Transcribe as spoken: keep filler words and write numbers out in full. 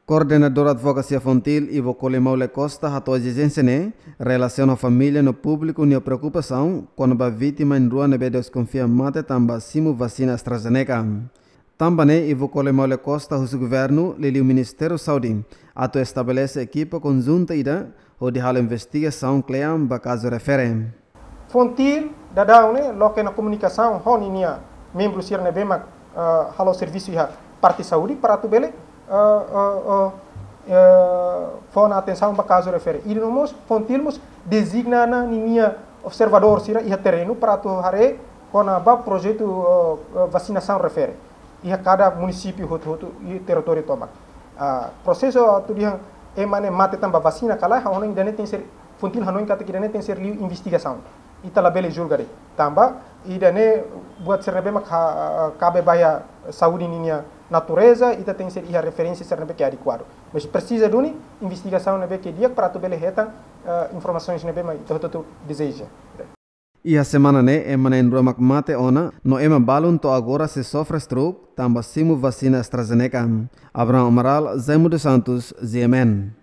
Koordenadór Advokasia FONGTIL, Ivo Colimão Le Costa, hato'o ezijénsia ne'e relasiona ho família no públiku nia preokupasaun kona-ba vítima na'in-rua ne'ebé deskonfia mate tanba simu vasina AstraZeneca. Tanba ne'e, Ivo Colimão Le Costa husu governu, liuliu Ministériu Saúde, atu estabelese ekipa konjunta ida hodi halo investigasaun kle'an ba kazu refere. FONGTIL daudaun ne'e loke ona komunikasaun ho ninia membru sira ne'ebé mak, ah, halo servisu iha parte saúde para atu bele, ah, ah, ah, eh, fó ona atensaun ba kazu refere. I no mós FONGTIL mós dezigna ona ninia observadór sira iha terrenu para atu haree kona-ba projetu, ah, ah, vasinasaun refere iha kada munisípiu hotu-hotu iha territóriu tomak. Ah, prosesu atu dehan ema ne'e mate tanba vasina ka lae, ha'u hanoin ida-ne'e tenke ser, FONGTIL hanoin katak ida-ne'e tenke ser liu investigasaun. Ita labele julga de'it. Tanba ida-ne'e buat sira ne'ebé mak ha-, kabe ba iha saúde ninia natureza, ita tenke ser iha referénsia sira ne'ebé ke adekuadu. Mas presiza duni investigasaun ne'ebé ke di'ak para atu bele hetan, eh, informasaun ne'ebé mak ita hotu-hotu dezeja. Iha semana ne'e, ema na'in-rua mak mate ona, no ema balun to'o agora sei sofre stroke tanba simu vasina AstraZeneca. Abraham Amaral, Zaimo dos Santos, G M N.